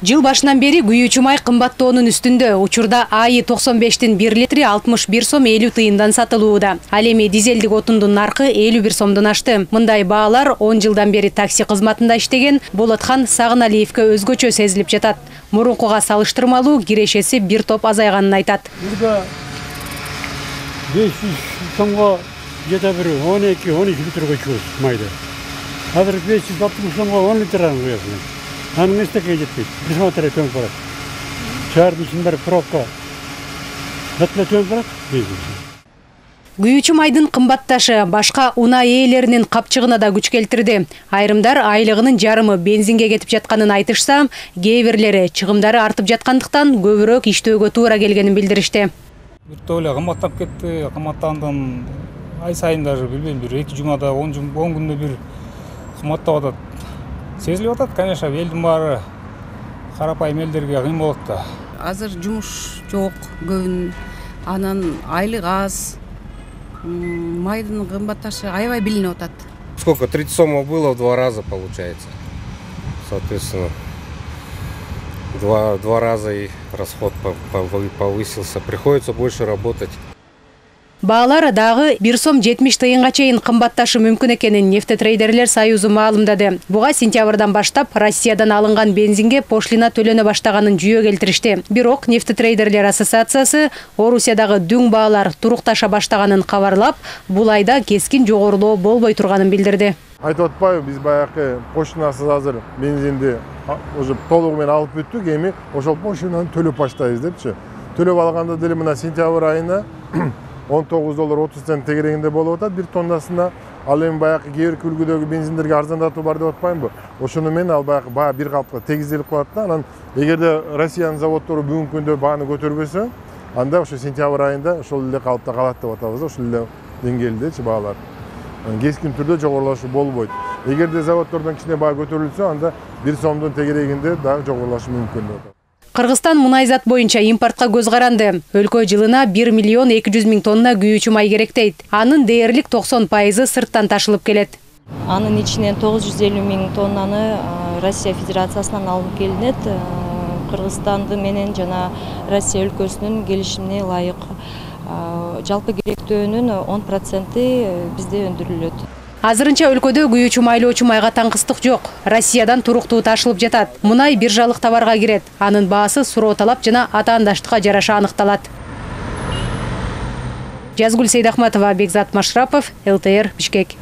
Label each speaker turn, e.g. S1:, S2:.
S1: Жыл башынан бери күйүүчү май кымбаттоонун үстүндө. Учурда АИ 95-тин 1 литри 61 сом 50 тыйындан сатылууда. Ал эми дизелдик отундун наркы 51 сомдон ашты. Мындай баалар 10 жылдан бери такси кызматында иштеген Болотхан Сагыналиевке өзгөчө сезилип жатат. Мурункуга салыштырмалуу кирешеси бир топ азайганын айтат.
S2: Burada 500 сомго жете бир 12-13 литрге чыгат майда. Азыр 560 сомго 10 литраны коесуң. Анын эстеке жетпейт. Присмотреть төнүп барат. Шаардын ичинде бир пробка. Батла төнүп барат.
S1: Күйүүчү майдын кымбатташы башка унаа ээлеринин капчыгына да күч келтирди. Айрымдар айлыгынын жарымы бензинге кетип жатканын айтышса, кээ бирлери чыгымдары артып жаткандыктан көбүрөөк иштөөгө туура келгенин билдиришти.
S3: Бир эле кымбаттап кетти. Кымбаттандан ай сайын даже билбейм, бир 2 жумада 10 күндө бир кымбаттап атат. Сезилип атат, конечно, элдин баары карапайым элдерге кыйын болот да.
S4: Азыр жумуш жок, көбүн анан айлык аз. Майдын кымбатташы аябай билинип атат.
S5: Сколько? 30 сомов было в 2 раза получается. Соответственно, два раза и расход повысился. Приходится больше работать.
S1: Баалар дагы 1 сом 70 тыйынга чейин кымбатташы мүмкүн экенин Нефтетрейдерлер союзу маалымдады. Буга сентябрдан баштап Россиядан алынган бензинге пошлина төлөнө баштаганын жүйө келтиришти. Бирок Нефтетрейдерлер ассоциациясы Орусиядагы дүң баалар турукташа баштаганын кабарлап, бул айда кескин жогорулоо болбой турганын билдирди.
S6: Айтып атпайбы, биз баягы поштинасыз азыр бензинди уже толугу менен алып бүттүк, эми ошол поштинаны төлөп баштайбыз депчи. Төлөп алганда деле мына сентябрь айына $19.30 тегерегинде болуп атат бир тоннасына. Ал эми баягы кээ бир үлгүдөгү бензиндерге арзандатуу бар деп атпаймынбы? Ошону менен ал баягы баа бир калыпка тегизделип калат да. Анан эгерде Россиянын заводдору бүгүнкү күндө бааны көтөрбөсө, анда ошо сентябрь айында ошол эле калыпта калат деп атабыз, ошол эле деңгээлдечи баалар. Кескин түрдө жогорулашуу болбойт. Эгерде заводдордон кичине баа көтөрүлсө, анда 1 сомдун тегерегинде дагы жогорулашы мүмкүн деп атат.
S1: Кыргызстан мунайзат боюнча импортко көз каранды. Өлкө жылына 1 миллион 200 миң тонна күйүүчү май керек дейт. Анын дээрлик 90% сырттан ташылып келет.
S7: Анын ичинен 950 миң тоннаны Россия Федерациясынан алынып келинет. Кыргызстанды менен жана Россия өлкөсүнүн келишимине ылайык. Жалпы керектөөнүн 10% бизде өндүрүлөт.
S1: Азырынча өлкөдө күйүүчү майлоочу майга таңкыстык жок. Россиядан туруктуу ташылып жатат. Мунай биржалык товарга кирет. Анын баасы суроо талап жана атаандаштыкка жараша аныкталат. Жазгүл Сейдахматова, Бекзат Машрапов, ЛТР, Бишкек.